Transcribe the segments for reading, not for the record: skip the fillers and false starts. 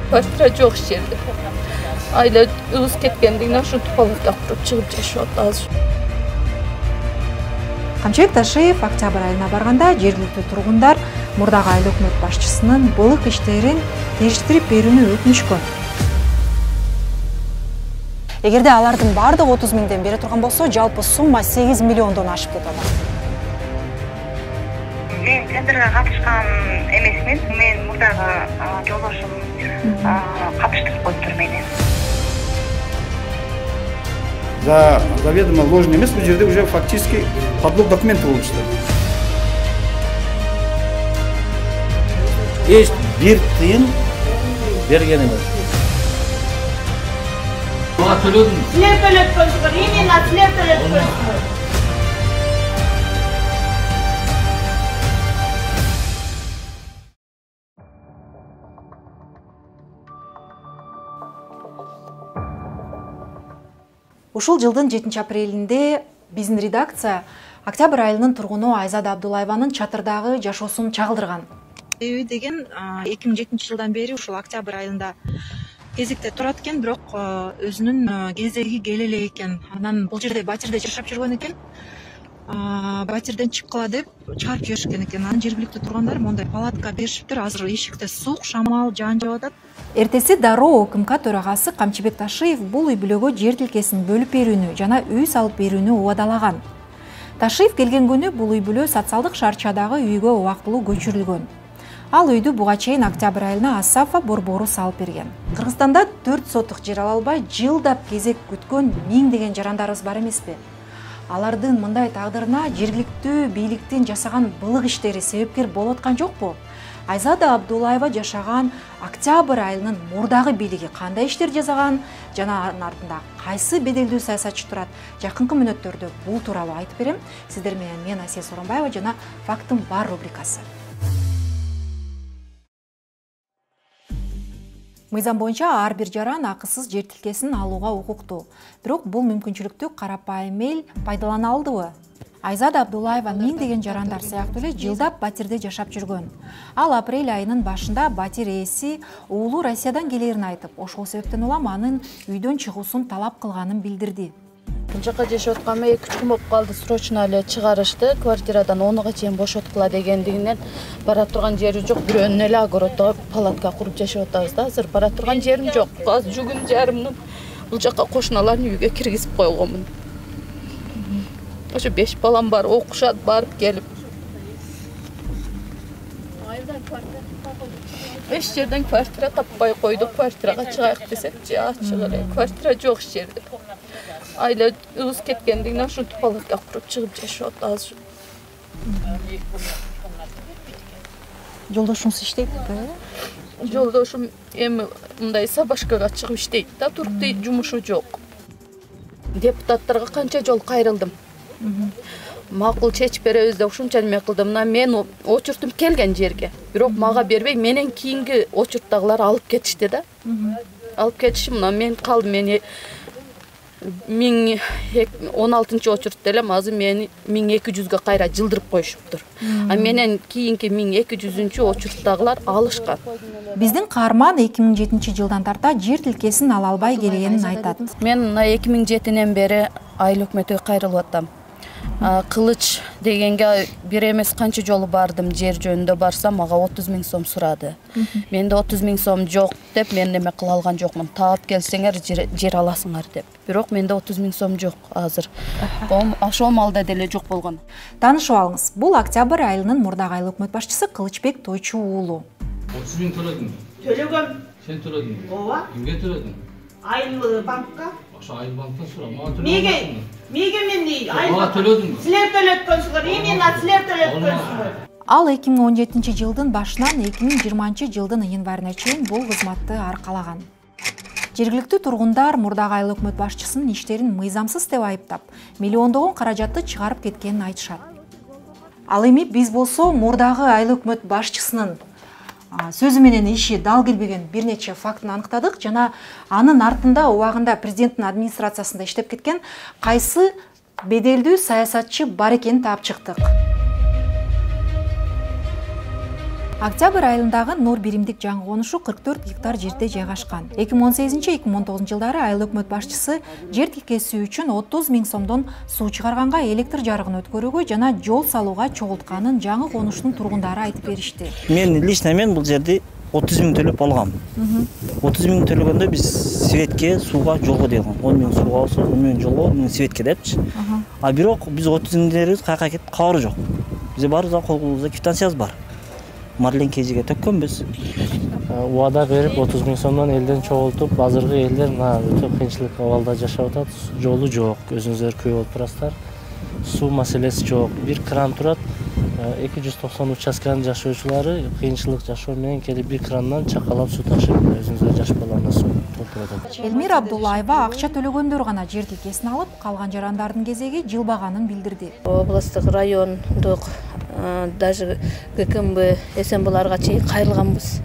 Квартира жок эч жерде. Айлабыз кеткенден кийин ошо палатка куруп чыгып жашап атабыз. Камчыбек Ташиев октябрь айына барганда жергиликтүү тургундар мурдагы айыл өкмөт башчысынын былык иштерин териштирип берүүнү өтүнүшкөн. Эгерде алардын бардыгы 30 миңден бере турган болсо, жалпы сумма 8 миллиондон ашып кетет. Мен тендерге катышкан эмесмин. Мен мурдагы жолдошум катыштырып коюптур мени. За заведомо ложный эмес, бул жерде уже фактически подлог документы болуп чыкты. Эч бир тыйын берген эмес. Мага төлөдүм. Силер төлөткөнсүңөр, именно силер төлөткөнсүңөр. Ушул жылдын 7 апрелинде биздин редакция октябрь айынын тургуну Айзада Абдулаеванын чатырдагы жашоосун чагылдырган. Себеби деген 2007 жылдан бери ушул октябрь айында кезекте турат экен, бирок өзүнүн кезеги келе эле экен. Анан бул жерде батирде жашап жүргөн экен. Батирден чыккыла деп чыгарып жиберишкен экен. Анан жергиликтүү тургандар мондай палатка беришиптир. Азыр эшикте суук, шамал, жаан жаап атат. Эртеси дароо ОКМК төрагасы Камчыбек Ташиев бул үй бүлөгө жер тилкесин бөлүп берүүнү жана үй салып берүүнү убадалаган. Ташиев келген күнү бул үй бүлө социалдык шаарчадагы үйгө убактылуу көчүрүлгөн. Ал үйдү буга чейин октябрь айына Асафа борбору салып берген. Кыргызстанда 4 сотук жер ала албай жылдап кезек күткөн миңдеген жарандарыбыз бар эмеспи? Алардын мындай тагдырына жергиликтүү бийликтин жасаган былык иштери себепкер болуп аткан жокпу? Айзада Абдулаева жашаган октябрь айынын мурдагы бийлиги кандай иштер жасаган жана анын артында кайсы беделдүү саясатчы турат? Жакынкы мүнөттөрдө бул тууралуу айтып берем. Сиздер менен мен Асия Соронбаева жана Фактым бар рубрикасы. Мыйзам боюнча ар бир жаран акысыз жер тилкесин алууга укуктуу. Бирок бул мүмкүнчүлүктү карапайым эл пайдалана алдыбы? Айзада Абдулаева миңдеген жарандар сыяктуу эле жылдап батирде жашап жүргөн. Ал апрель айынын башында батир ээси уулу Россиядан келерин айтып, ошол себептен улам анын үйдөн чыгуусун талап кылганын билдирди. Бул жака жашап атканыма 2-3 күн болуп калды. Срочно эле чыгарышты. Квартирадан 10-га чейин бошоткула дегендигинен бара турган жери жок. Бирөөнүн эле огороддо палатка куруп жашап атабыз да. Азыр бара турган жерим жок. Азыр жүгүн жарымдын бул жака кошуналардын үйгө киргизип койгонмун. Ошо 5 балам бар, окушат, барып келип. Эч жерден квартира таппай койдук. Квартирага чыгайык десек, чыгып эле. Квартира жок эч жерде. Айлабыз кеткенден кийин ошо палатка куруп чыгып жашап атабыз. Жолдошуңуз иштейт да? Жолдошум эми мындай сабашкага чыгып иштейт да, туруктуу жумушу жок. Депутаттарга канча жол кайрылдым. Макул чечип беребиз деп ушунча неме кылдым. Мен очуртум келген жерге. Бирок мага бербей, менен кийинки очурттагылар алып кетишти да. Алып кетиши мына мен калдым. Мени 16-чы очуртта элем, азыр мени 1200га кайра жылдырып коюшуптур. Менен кийинки 1200-чү очурттагылар алышкан. Биздин каарман 2007 жылдан тарта жер тилкесин ала албай келгенин айтат. Мен 2007-ден бери айыл өкмөтүгө кайрылып атам. Кылыч дегенге бир эмес канча жолу бардым, жер жөнүндө барсам мага 30 000 сом сурады. Менде 30 000 сом жок деп мен неме кыла алган жокмун. Таап келсеңер жер аласыңар деп. Бирок менде 30 000 сом жок азыр. Ошол малда деле жок болгон. Таанышып алыңыз. Бул октябрь айынын мурдагы айыл өкмөт башчысы Кылычбек Тойчу уулу. 30 000 төлөдүм. Төлөгөм. Сен төлөдүң. Ооба. Кимге төлөдүң? Айыл банкка. Ошо айыл банктан сурам. Мага төлөдүң. Мега мен Мага төлөдүң. Силер төлөткөнсүңөр, именно силер төлөткөнсүңөр. Ал 2017 жылдын башынан 2020 жылдын январына чейин бул кызматты аркалаган. Жергиликтүү тургундар мурдагы айыл өкмөт башчысынын иштерин мыйзамсыз деп айыптап, миллиондогон каражатты чыгарып кеткенин айтышат. Ал эми биз болсо мурдагы айыл өкмөт башчысынын сөзү менен иши дал келбеген бир нече фактын аныктадык жана анын артында убагында президенттин администрациясында иштеп кеткен кайсы беделдүү саясатчы бар экенин таап чыктык. Октябрь айылындагы Нур биримдик жаңы конушу 44 гектар жерде жайгашкан. 2018-2019 жылдары айыл өкмөт башчысы жер тилкеси үчүн 30 000 сомдон суу чыгарганга, электр жарыгын өткөрүүгө жана жол салууга чогултканын жаңы конуштун тургундары айтып беришти. Мен бул жерди 30 000 төлөп алгам. 30 000 төлөгөндө биз светке, сууга, жолго дейган. 10 000 сууга болсо, 10 000 жолго, 10 000 светке депчи. А бирок биз 30 000 каяка кетип кабары жок. Бизде барыбызга колубузда квитанциябыз бар. Марлен KG'ге төккөнбүз. Убада берип 30 000 сомдон элден чогултуп, азыркы элдер өтө кыйынчылык абалда жашап атат. Жолу жок, өзүңүздөр күбө болуп турасыздар. Суу маселеси жок. Бир кран турат. 290 участканын жашоочулары кыйынчылык жашоо менен келип бир крандан чакалап суу ташып, өзүңүздөр жаш балдарына суу толтуруп атат. Элмира Абдуллаева акча төлөгөндөр гана жер тилкесин алып, калган жарандардын кезеги жылбаганын билдирди. Областтык, райондук, даже ГКМБ, СМБларга чейин кайрылганбыз.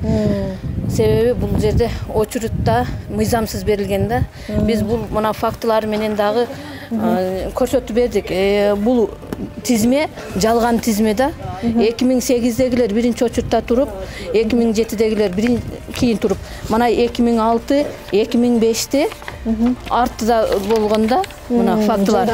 Себеби бул жерде очерутта мыйзамсыз берилген да. Биз бул мына фактылар менен дагы көрсөтүп бердик. Бул тизме жалган тизме да. 2008-дегилер биринчи очерутта туруп, 2007-дегилер кийин туруп, мына 2006, 2005-те артыда болгондо мына фактылар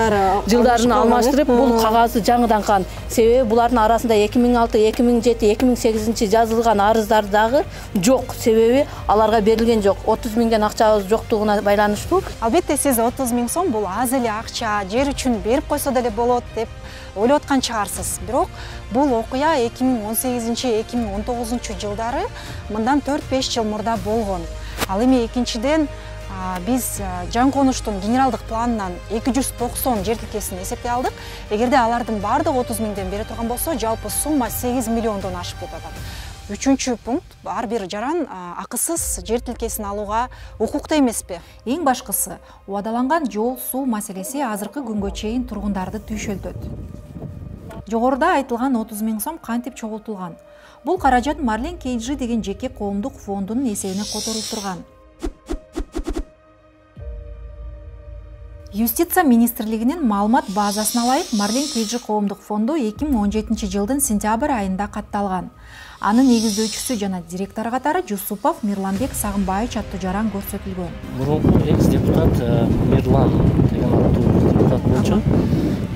жылдарын алмаштырып, бул кагазды жаңыдан кан. Себеби булардын арасында 2006, 2007, 2008 жазылган арыздардагы жок. Себеби аларга берилген жок. 30 000ден акчабыз жоктугуна байланыштуу. Албетте сиз 30 000 сом бул аз эле акча, жер үчүн берип койсо деле болот деп ойлоп аткан чыгарсыз. Бирок бул окуя 2018-2019 жылдары мындан 4-5 жыл мурда болгон. Ал эми экинчиден биз жаңы конуштун генералдык планынан 290 жер тилкесин эсептей алдык. Эгерде алардын баардыгы 30 000ден бере турган болсо, жалпы сумма 8 миллиондон ашып кетет. Үчүнчү пункт, ар бир жаран акысыз жер тилкесин алууга укуктуу эмеспи? Эң башкысы, убадаланган жол, суу маселеси азыркы күнгө чейин тургундарды түйшөлтөт. Жогоруда айтылган 30 000 сом кантип чогултулган? Бул каражат Марлен KG деген жеке коомдук фондунун эсебине которулуп турган. Юстиция министрлигинин маалымат базасына ылайык Марлен KG коомдук фонду 2017 жылдын сентябрь айында катталган. Анын негиздөөчүсү жана директору катары Жусупов Мирланбек Сагынбаевич аттуу жаран көрсөтүлгөн. Мурунку экс-депутат Мирлан деген аттуу депутат болчу.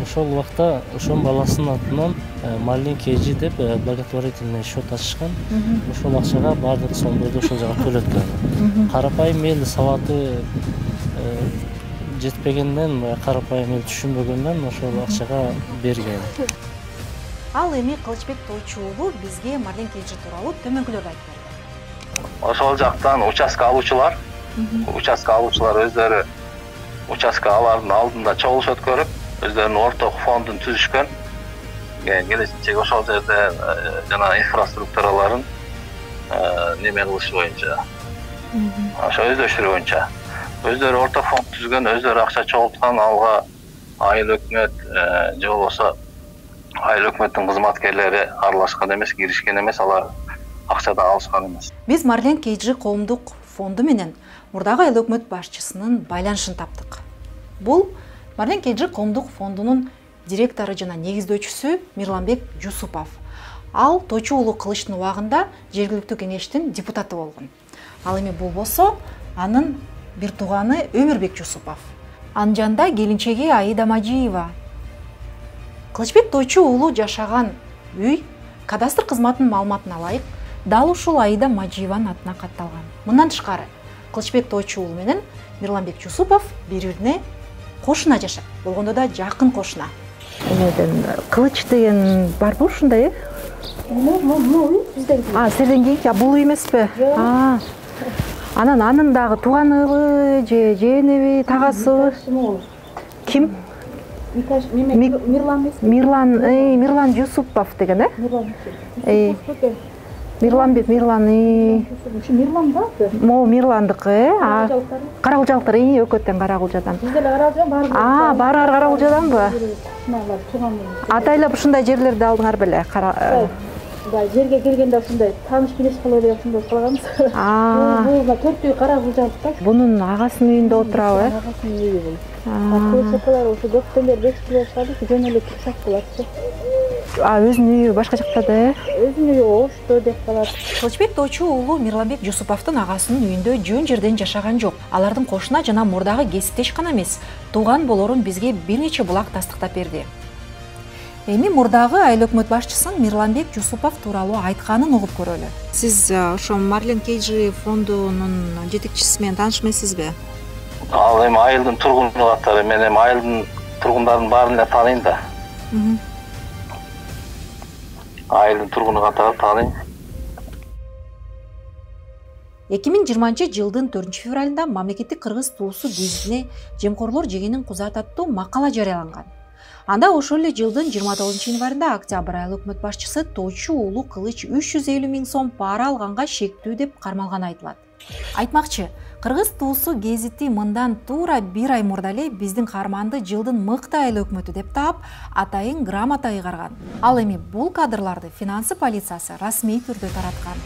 Ошол убакта ошонун баласынын атынан Марлен KG деп благотворительный счет ачышкан. Ошол акчага баардык сомдорду ошол жака төлөткөн. Карапайым эл сабаты жетпегенден, карапайым эл түшүнбөгөндөн ошол акчага берген. Ал эми Кылычбек Тойчу уулу бизге Марлен KG тууралуу төмөнкүлөрдү айтып берди. Ошол жактан участка алуучулар өздөрү участка алардын алдында чогулуш өткөрүп, өздөрүнүн орток фондун түзүшкөн. Келечекте ошол жерде жана инфраструктураларын неме кылыш боюнча, ошо өздөштүрүү боюнча өздөрү орток фонд түзгөн, өздөрү акча чогулткан, алга айыл өкмөт же болбосо айыл өкмөттүн кызматкерлери аралашкан эмес, киришкен эмес, алар акчадан алышкан эмес. Биз Марлен KG коомдук фонду менен мурдагы айыл өкмөт башчысынын байланышын таптык. Бул Марлен KG коомдук фондунун директору жана негиздөөчүсү Мирланбек Жусупов. Ал Тойчу уулу Кылычтын убагында жергиликтүү кеңештин депутаты болгон. Ал эми бул болсо анын бир тууганы Өмүрбек Жусупов. Анын жанында келинчеги Аида Мажиева. Кылычбек Тойчу уулу жашаган үй кадастр кызматынын маалыматына ылайык дал ушул Аида Мажиеванын атына катталган. Мындан тышкары Кылычбек Тойчу уулу менен Мирланбек Жусупов бири-бирине кошуна жашап, болгондо да жакын кошуна. Эмеден Кылыч деген барбы ушундай, э? Сизден кийинки бул үй эмеспи? Анын дагы тууганыбы же жээниби, тагасыбы? Ким? Мирлан Жусупов деген, э? Мирлан. Мирлан барды? Мирландыкы, э? Карагулжалыктар, Өкөттөн Карагулжадан. Биз деле Карагулжадан барбы? Баары Карагулжаданбы? Атайлап ушундай жерлерди алдыңар беле? Жерге келгенде ушундай тааныш билеш кылып деп ушундай кылганбыз. Бул 4 үй Карагулжалыкта. Бунун агасынын үйүндө отурабы, э? Агасынын үйү бул. Кылычкалар ошо көптөн бери бекитилип атышат, жөн эле турсак болотчу. өзүнүн үйү башка жакта да, Өзүнүн үйү Ошто деп калат. Кылычбек Тойчу уулу Мирланбек Жусуповдун агасынын үйүндө жөн жерден жашаган жок. Алардын кошуна жана мурдагы кесиптеш гана эмес, тууган болорун бизге бир нече булак тастыктап берди. Эми мурдагы айыл өкмөт башчысын Мирланбек Жусупов тууралуу айтканын угуп көрөлү. Сиз ошо Марлен Кейджи фондунун жетекчиси менен тааныш эмессизби? Ал эми айылдын тургуну катары, мен эми айылдын тургундарын баарын эле тааныйм да. Айылдын тургуну катары тааныйм. 2020 жылдын 4-февралында мамлекеттик кыргыз туусу гезитине жемкорлор жегенин кузат аттуу макала жарыяланган. Анда ошол эле жылдын 29-январында Октябрь айыл өкмөт башчысы Тойчу уулу Кылыч 350 000 сом пара алганга шектүү деп кармалганы айтылат. Айтмакчы, кыргыз туусу гезити мындан туура 1 ай мурда эле биздин каарманды жылдын мыкты айыл өкмөтү деп таап, атайын грамота ыйгарган. Ал эми бул кадрларды финансы полициясы расмий түрдө тараткан.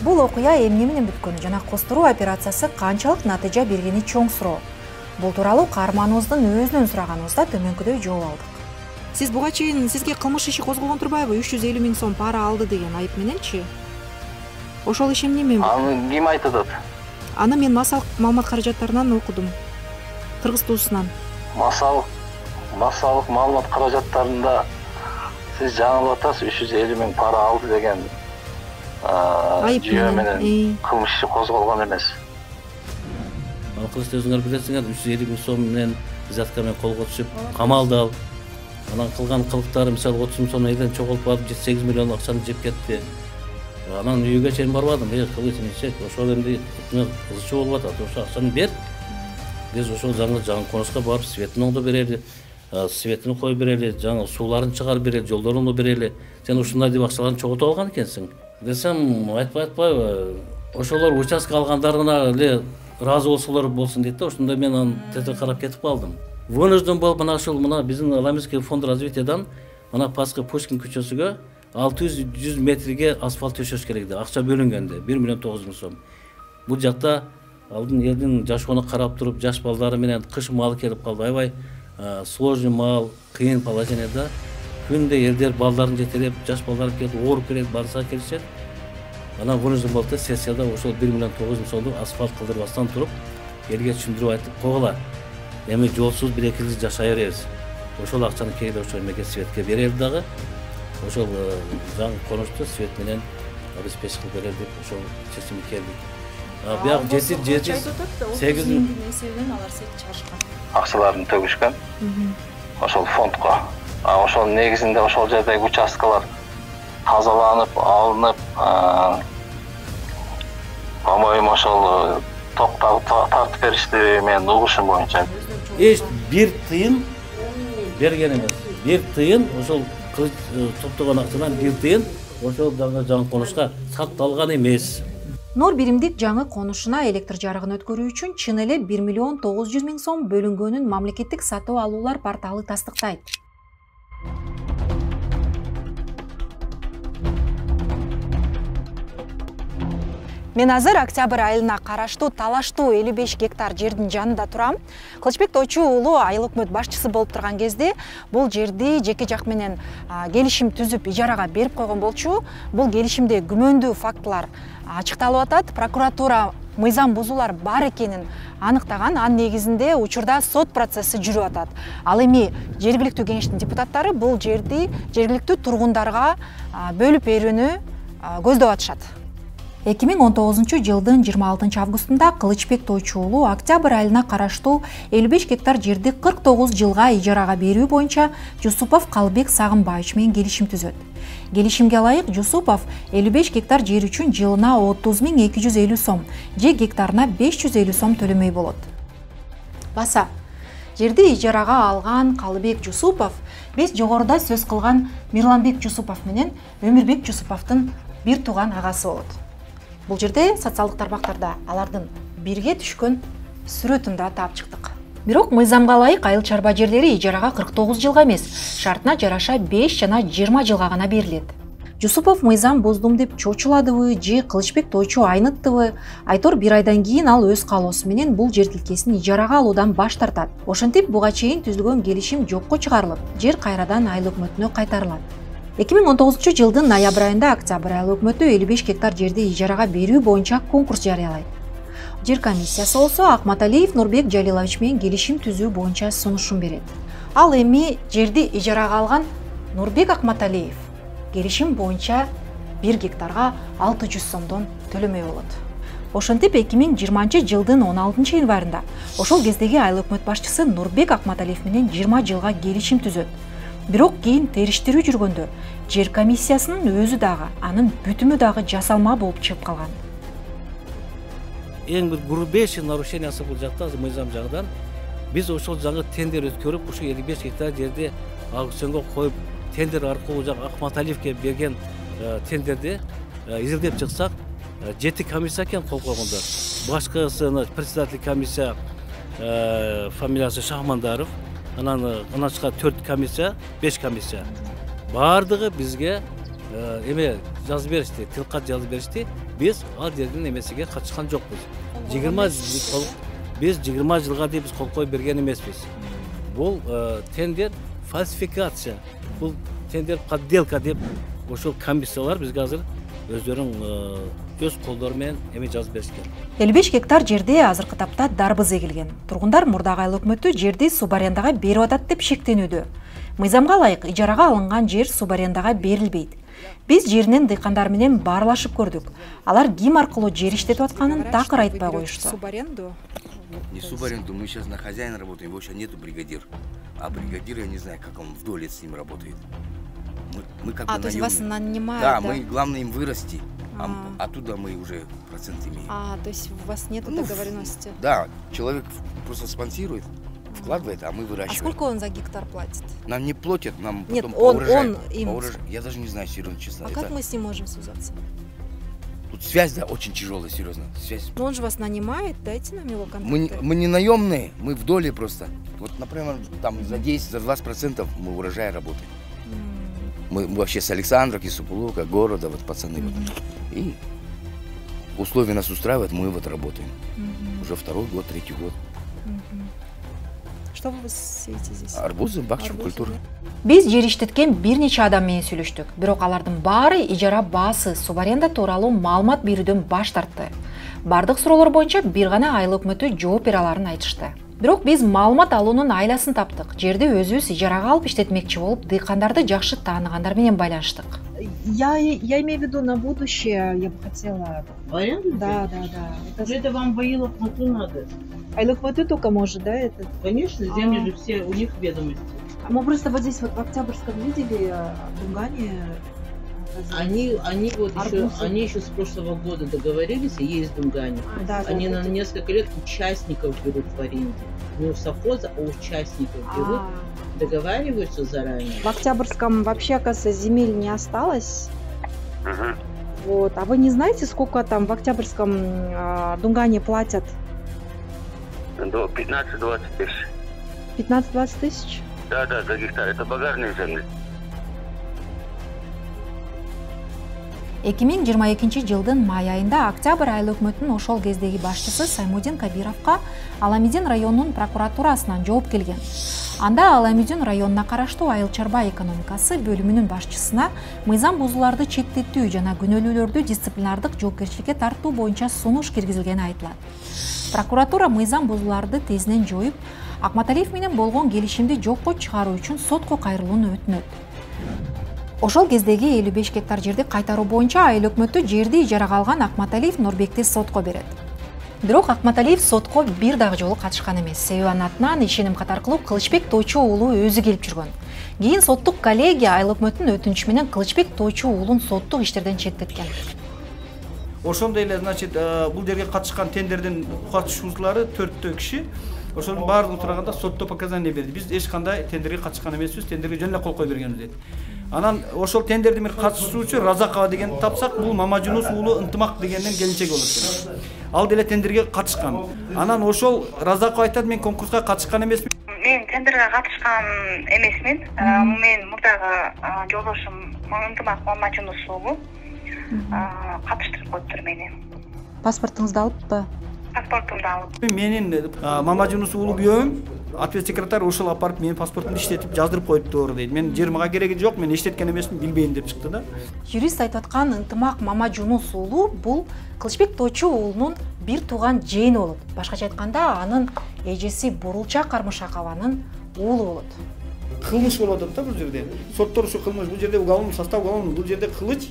Бул окуя эмне менен бүткөнү жана костуруу операциясы канчалык натыйжа бергени чоң суроо. Бул тууралуу каарманыбыздын өзүнөн сураганыбызда төмөнкүдөй жооп алдык. Сиз буга чейин сизге кылмыш иши козголгон турбайбы? 350 000 сом пара алды деген айып мененчи? Ошол иш эмне менен? Аны ким айтат? Аны мен массалык маалымат каражаттарынан окудум. Кыргыз туусунан. Массалык маалымат каражаттарында сиз жаңылып атасыз, 350 000 пара алды деген жүйө менен кылмыш иши козголгон эмес. Кылычты өзүңөр билесиңер, 350 000 сом менен взятка менен колго түшүп, камалды ал. Анан кылган кылыктары, мисалы 30 000 сом элден чогулуп барып, 8 миллион акчаны жеп кетти. Анан үйгө чейин барбадым, Кылыч эмчек, ошол эмди кызчу болуп атат, ошо акчаны бер. Биз ошол жаңы конушка барып, светин оңдоп берели, светин коюп берели, жаңы сууларын чыгарып берели, жолдорун берели. Сен ушундай деп акчаларын чогултуп алган экенсиң. Десем, айтпайбы, ошолор участка алгандарына эле ыраазы болсун дейт да, ошондо мен аны тете карап кетип калдым. Вынужден болуп мына биздин Аламинский фонд развитиядан мына Паска Пушкин көчөсүгө 600 метрге асфальт төшөш керек деп акча бөлүнгөндө 1 миллион 900 000 сом. Бул жакта алдын элдин жашоону карап туруп, жаш балдары менен кыш маал келип калды, аябай сложный маал, кыйын положенияда. Күндө элдер балдарын жетелеп, жаш балдар келип, ооруп келет, барса келишет. Анан вынужден болуп сессияда ошол 1 миллион 900 000 сомду асфальт кылдырбастан туруп, элге түшүндүрүп айтып койгула. Эми жолсуз 1-2 жыл жашай беребиз. Ошол акчаны кээде ошол эмеге светке берели дагы. Ошол жаңы конушту свет менен обеспечить кылып берели деп ошол чечимге келдик. Бияк 7-8 несебинен алар свет чыгарышкан. Акчаларын төгүшкөн. Ошол фондко. Ошол негизинде ошол жердеги участкалар тазаланып, алынып, по-моему, ошол тартып беришти менин угушум боюнча. Эч бир тыйын берген эмес. Бир тыйын ошол топтогон акчадан бир тыйын ошол жаңы конушка сатталган эмес. Нор биримдик жаңы конушуна электр жарыгын өткөрүү үчүн чын эле 1 миллион 900 000 сом бөлүнгөнүн мамлекеттик сатып алуулар порталы тастыктайт. Мен азыр Октябрь айылына караштуу талаштуу 55 гектар жердин жанында турам. Кылычбек Тойчу уулу айыл өкмөт башчысы болуп турган кезде бул жерди жеке жак менен келишим түзүп ижарага берип койгон болчу. Бул келишимде күмөндүү фактылар ачыкталып атат. Прокуратура мыйзам бузуулар бар экенин аныктаган. Анын негизинде учурда сот процесси жүрүп атат. Ал эми жергиликтүү кеңештин депутаттары бул жерди жергиликтүү тургундарга бөлүп берүүнү көздөп атышат. 2019 жылдын 26 августунда Кылычбек Тойчу уулу Октябрь айылына караштуу 55 гектар жерди 49 жылга ижарага берүү боюнча Жусупов Калбек Сагынбаевич менен келишим түзөт. Келишимге ылайык Жусупов 55 гектар жер үчүн жылына 30 250 сом, же гектарына 550 сом төлөмөй болот. Баса, жерди ижарага алган Калбек Жусупов биз жогоруда сөз кылган Мирланбек Жусупов менен Өмүрбек Жусуповдун бир тууган агасы болот. Бул жерде социалдык тармактарда алардын бирге түшкөн сүрөтүн да таап чыктык. Бирок мыйзамга ылайык айыл чарба жерлери ижарага 49 жылга эмес, шартына жараша 5 жана 20 жылга гана берилет. Жусупов мыйзам буздум деп чочуладыбы же Кылычбек тойчу айныттыбы? Айтор 1 айдан кийин ал өз каалоосу менен бул жер тилкесин ижарага алуудан баш тартат. Ошентип буга чейин түзүлгөн келишим жокко чыгарылып, жер кайрадан айыл өкмөтүнө кайтарылат. 2019 жылдын ноябрь айында Октябрь айыл өкмөтү 55 гектар жерди ижарага берүү боюнча конкурс жарыялайт. Жер комиссиясы болсо Акматалиев Нурбек Жалилович менен келишим түзүү боюнча сунушун берет. Ал эми жерди ижарага алган Нурбек Акматалиев келишим боюнча 1 гектарга 600 сомдон төлөмөй болот. Ошентип 2020 жылдын 16 январында ошол кездеги айыл өкмөт башчысы Нурбек Акматалиев менен 20 жылга келишим түзөт. Бирок кийин териштирүү жүргөндө жер комиссиясынын өзү дагы, анын бүтүмү дагы жасалма болуп чыгып калган. Эң бир грубейший нарушениясы бул жакта мыйзам жагынан биз ошол жагы тендер өткөрүп, ушу 55 гектар жерди аукционго коюп, тендер аркылуу жак Акматалиевке берген тендерди изилдеп чыксак, 7 комиссия экен кол койгондор. Башкысыны председатель комиссия фамилиясы Шахмандаров, анан чыккан 4 комиссия, 5 комиссия. Бардыгы бизге эме жазып беришти, тилкат жазып беришти. Биз ал жердин эмесиге катышкан жокпуз. 20 жылга деп биз кол коюп берген эмеспиз. Бул тендер фальсификация, бул тендер подделка деп ошол комиссиялар бизге азыр өздөрүнүн өз колдору менен эме жазып беришкен. 55 гектар жерде азыркы тапта дарбыз эгилген. Тургундар мурдагы айыл өкмөтү жерди субарендага берип атат деп шектенүүдө. Мыйзамга ылайык ижарага алынган жер субарендага берилбейт. Биз жеринен дыйкандар менен баарлашып көрдүк. Алар ким аркылуу жер иштетип атканын такыр айтпай коюшту. Не субаренду, мы сейчас на хозяина работаем, его сейчас нету бригадир. А бригадир, я не знаю, как он в доле с ним работает. Мы как бы то есть вас нанимают? Да, мы главное им вырасти, оттуда мы уже процент имеем. То есть у вас нет договоренности? Да, человек просто спонсирует, вкладывает, а мы выращиваем. А сколько он за гектар платит? Нам не платят, нам нет, потом по урожаю. Им... Я даже не знаю, серьезно, честно. А как мы с ним можем связаться? Тут связь, да, очень тяжелая, серьезно. Связь. Но он же вас нанимает, дайте нам его контакты. Мы не наемные, мы в доле просто. Вот, например, там за 10, за 20% мы урожай работаем. Мы вообще с Александровки, Супулука, города, вот пацаны. Вот. И условия нас устраивают, мы вот работаем. Уже 2-й год, 3-й год. Что вы сеете здесь? Арбузы, бакчу, культуру. Биз жер иштеткен бир нече адам менен сүйлөштүк. Бирок алардын баары ижара баасы, субаренда тууралуу маалымат берүүдөн баш тартты. Бардык суроолор боюнча бир гана айыл өкмөтү жооп бере аларын айтышты. Бирок биз маалымат алуунун айласын таптык. Жерди өзүбүз ижарага алып иштетмекчи болуп, дыйкандарды жакшы тааныгандар менен байланыштык. Я имею в виду на будущее, я бы хотела. В аренду? Да. Это вам в айыл өкмөтү надо. Айыл өкмөтү только может, да, это? Конечно, земли же все, у них ведомости. Мы просто вот здесь вот в Октябрьском видели Дунгане. Они еще с прошлого года договорились, и есть Дунгане. Они на несколько лет участников берут в аренде. Не у совхоза, а у участников берут, договариваются заранее. В Октябрьском вообще, оказывается, земель не осталось. Вот. А вы не знаете, сколько там в Октябрьском Дунгане платят? До 15-20 тысяч. 15-20 тысяч? Да, за гектар. Это багажные земли. 2022 жылдын май айында Октябрь айыл өкмөтүнүн ошол кездеги башчысы Саймудин Кабировго Аламидин районунун прокуратурасынан жооп келген. Анда Аламидин районуна караштуу айыл чарба экономикасы бөлүмүнүн башчысына мыйзам бузууларды чектетүү жана күнөөлүүлөрдү дисциплинардык жоопкерчиликке тартуу боюнча сунуш киргизилгени айтылат. Прокуратура мыйзам бузууларды тезинен жоюп, Акматалиев менен болгон келишимди жокко чыгаруу үчүн сотко кайрылууну өтүнөт. Ошол кездеги 55 гектар жерди кайтаруу боюнча айыл өкмөтү жерди ижарага алган Акматалиев Нурбекти сотко берет. Бирок Акматалиев сотко бир дагы жолу катышкан эмес. Себеби анын атынан ишеним катар кылып Кылычбек Тойчу уулу өзү келип жүргөн. Кийин соттук коллегия айыл өкмөтүнүн өтүнүчү менен Кылычбек Тойчу уулун соттук иштерден четтеткен. Ошондой эле, значит, бул жерге катышкан тендердин катышуучулары 4 киши. Ошонун баардыгы турганда сотто показания берди. Биз эч кандай тендерге катышкан эмеспиз, тендерге жөн эле кол кое бергенбиз дейт. Анан ошол тендердин бир катышуучу Разакова дегенди тапсак, бул Мамажунус уулу Ынтымак дегендин келинчеги болот. ал деле тендерге катышкан. Анан ошол Разаков айтат, мен конкурска катышкан эмесмин. Мен тендерге катышкан эмесмин. Мен мурдагы жолдошум Ынтымак Мамажунус уулу катыштырып коюптур мени. Паспортуңузду алыппы? Паспортумду алып. Менин Мамажунус уулу күйөөм ответ секретарь ошол апарып менин паспортумду иштетип жаздырып коюптур дейт. Мен 20 кереги жок, мен иштеткен эмесмин, билбейм деп чыкты да. Юрист айтып аткан Ынтымак Мамажунус уулу бул Кылычбек Тойчу уулунун бир тууган жээни болот. Башкача айтканда, анын эжеси Бурулчак Кармышакованын уулу болот. Кылмыш болуп атат да бул жерде. Соттор ушу кылмыш, бул жерде уголовный состав уголовный, бул жерде кылыч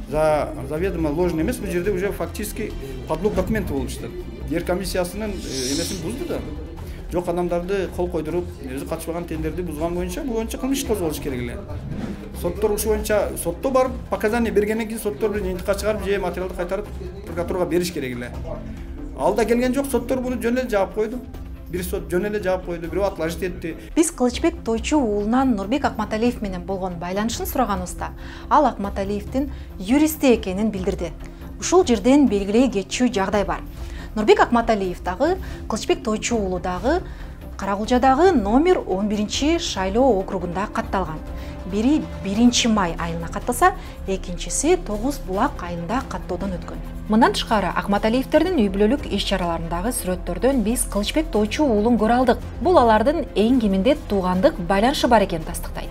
заведомо ложный эмес, бул жерде уже фактически подлог документи болуп жатат. Жер комиссиясынын эмесин бузду да. Жок адамдарды кол койдуруп, өзү катышпаган тендерди бузган боюнча кылмыш козголуш керек эле. Соттор ушу боюнча сотто барып показания бергенден кийин соттор бир жыйынтыкка чыгарып же материалды кайтарып прокуратурага бериш керек эле. Ал да келген жок, соттор буну жөн эле жаап койду. Бир сот жөн эле жаап койду, бирөө отложить этти. Биз Кылычбек Тойчу уулунан Нурбек Акматалиев менен болгон байланышын сураганыбызда, ал Акматалиевдин юристи экенин билдирди. Ушул жерден белгилей кетчү жагдай бар. Нурбек Акматалиев дагы Кылычбек Тойчу уулу дагы Каракулжадагы номер 11 шайлоо округунда катталган. Бири 1 май айына катталса, экинчиси 9 булак айында каттоодон өткөн. Мындан тышкары Акматалиевтердин үй бүлөлүк иш-чараларындагы сүрөттөрдөн биз Кылычбек Тойчу уулун көрө алдык. Бул алардын эң кеминде туугандык байланышы бар экенин тастыктайт.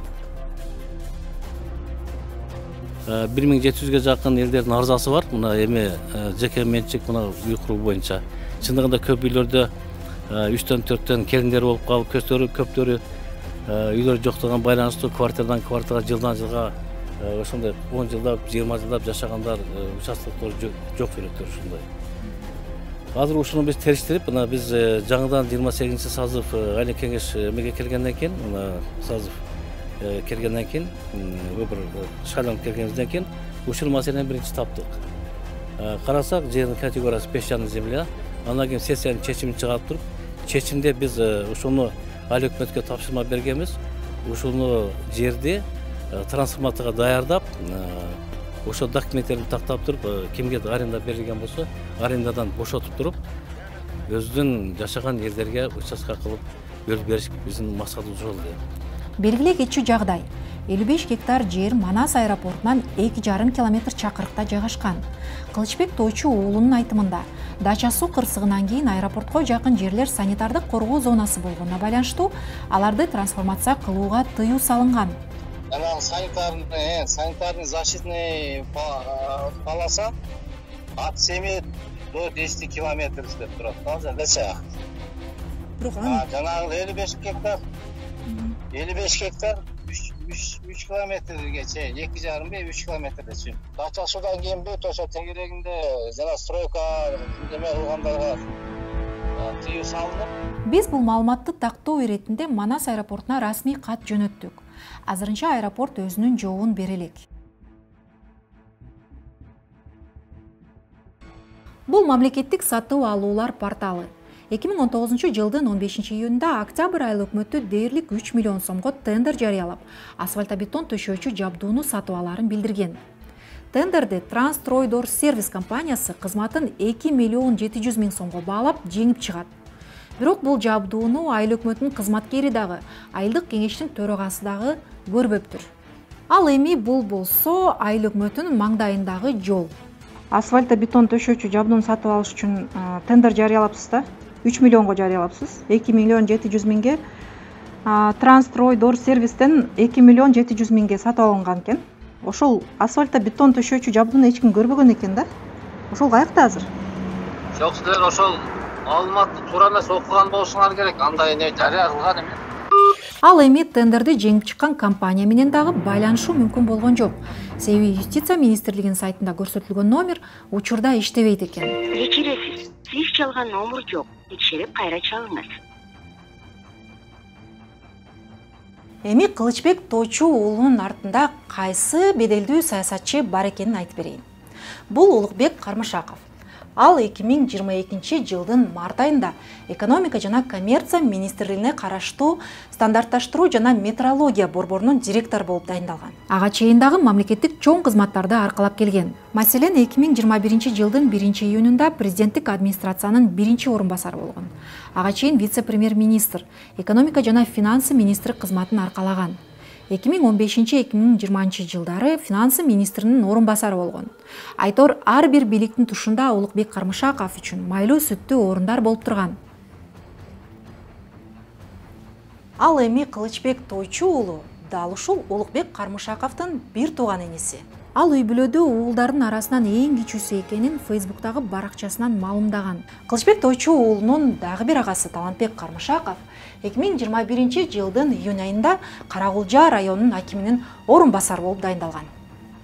1700ге жакын элдердин арызасы бар. Мына эми жеке менчик мына үй куруу боюнча. Чындыгында көп үйлөрдө 3төн 4төн келиндер болуп калып, көптөрү үйлөр жоктуган байланыштуу квартирадан квартирага жылдан жылга ошондой 10 жылдап, 20 жылдап жашагандар участоктор жок жүрөттөр ушундай. Азыр ушуну биз териштирип, мына биз жаңыдан 28-сазыв айлык кеңеш эмеге келгенден кийин, мына сазыв келгенден кийин, өбүр шайланып келгенден кийин ушул маселени биринчи таптык. Карасак, жердин категориясы песчаный земля, андан кийин сессиянын чечимин чыгарып туруп, чечимде биз ушуну айыл өкмөткө тапшырма бергенбиз. Ушуну жерди трансформаторго даярдап, ошо документтерин тактап туруп, кимге аренда берилген болсо, арендадан бошотуп туруп, өзүнүн жашаган элдерге участка кылып бөлүп бериш биздин максатыбыз ошол. Белгилей кетчү жагдай. 55 гектар жер Манас аэропортунан 2,5 километр чакырыкта жайгашкан. Кылычбек Тойчу уулунун айтымында, Дача суу кырсыгынан кийин аэропортко жакын жерлер санитардык коргоо зонасы болгонуна байланыштуу аларды трансформация кылууга тыюу салынган. Санитарный защитный полоса от 7 до 10 километр деп турат. Дача. Жанагы 55 гектар 3 километрге чейин 2,5-3 километрде чейин. Дача судан кийин бүт ошо тегерегинде жана стройка неме кылгандарга тыюу салынып. Биз бул маалыматты тактоо иретинде Манас аэропортуна расмий кат жөнөттүк. Азырынча аэропорт өзүнүн жообун бере элек. Бул мамлекеттик сатуу алуулар порталы. 2019 жылдын 15 июнда октябрь айыл өкмөтү дээрлик 3 миллион сомго тендер жарыялап, асфальтобетон төшөөчү жабдууну сатып алаарын билдирген. Тендерде Трансстройдор сервис компаниясы кызматын 2 миллион 700 миң сомго баалап жеңип чыгат. Бирок бул жабдууну айыл өкмөтүнүн кызматкери дагы, айылдык кеңештин төрагасы дагы көрбөптүр. Ал эми бул болсо айыл өкмөтүнүн маңдайындагы жол. Асфальтобетон төшөөчү жабдууну сатып алыш үчүн тендер жарыялапсыз да? 3 миллионго жарыялапсыз. 2 миллион 700 миңге Трансстройдор сервистен 2 миллион 700 миңге сатып алынган экен. Ошол асфальтобетон төшөөчү жабдууну эч ким көрбөгөн экен да? Ошол каякта азыр? Жок, силер ошол маалыматты туура эмес окуган болушуңар керек. Андай не жарыяланган эмес. Ал эми тендерди жеңип чыккан компания менен дагы байланышуу мүмкүн болгон жок. Себеби Юстиция министрлигинин сайтында көрсөтүлгөн номер учурда иштебейт экен. Кечиресиз, сиз чалган номер жок. Текшерип кайра чалыңыз. Эми Кылычбек Тойчу уулунун артында кайсы беделдүү саясатчы бар экенин айтып берейин. Бул Улукбек Кармышаков. Ал 2022 жылдын март айында экономика жана коммерция министрлигине караштуу стандартташтыруу жана метрология борборунун директору болуп дайындалган. Ага чейин дагы мамлекеттик чоң кызматтарды аркалап келген. Маселен, 2021 жылдын 1-июнунда президенттик администрациянын 1-орун басары болгон. Ага чейин вице-премьер-министр, экономика жана финансы министри кызматын аркалаган. 2015-2020 жылдары финансы министринин орун басары болгон. Айтор ар бир бийликтин тушунда Улукбек Кармышаков үчүн майлуу сүттүү орундар болуп турган. Ал эми Кылычбек Тойчу уулу дал ушул Улукбек Кармышаковдун бир тууган иниси. Ал үй бүлөдө уулдардын арасынан эң кичүүсү экенин Фейсбуктагы баракчасынан маалымдаган. Кылычбек Тойчу уулунун дагы бир агасы Талантбек Кармышаков 2021 жылдын июнь айында Карагулжа районунун акиминин орун басары болуп дайындалган.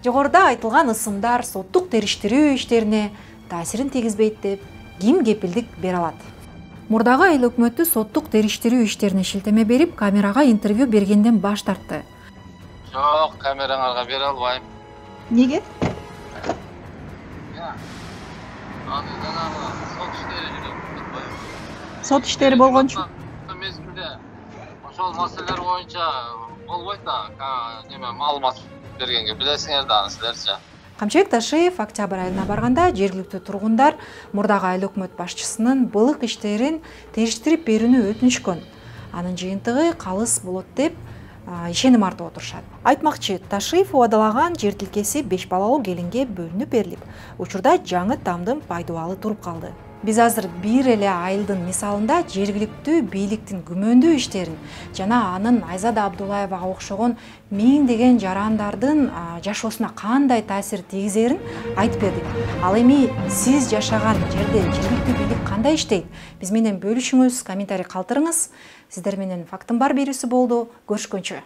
Жогоруда айтылган ысымдар соттук териштирүү иштерине таасирин тийгизбейт деп ким кепилдик бере алат? Мурдагы айыл өкмөтү соттук териштирүү иштерине шилтеме берип, камерага интервью бергенден баш тартты. Жок, камераңарга бере албайм. Неге? Аны жанагы сот иштери жүрөт. Сот иштери болгончу. Мезгилде ошол маселелер боюнча болбойт да, неме маалымат бергенге билесиңер да аны силерчи. Камчыбек Ташиев октябрь айына барганда жергиликтүү тургундар мурдагы айыл өкмөт башчысынын былык иштерин териштирип берүүнү өтүнүшкөн. Анын жыйынтыгы калыс болот деп ишеним артып отурушат. Айтмакчы, Ташиев убадалаган жер тилкеси 5 балалуу келинге бөлүнүп берилип, учурда жаңы тамдын пайдубалы туруп калды. Биз азыр бир эле айылдын мисалында жергиликтүү бийликтин күмөндүү иштерин жана анын Айзада Абдулаевага окшогон миңдеген жарандардын жашоосуна кандай таасир тийгизерин айтып бердик. Ал эми сиз жашаган жерде жергиликтүү бийлик кандай иштейт? Биз менен бөлүшүңүз, комментарий калтырыңыз. Сиздер менен Фактын бар берүүсү болду. Көрүшкөнчө.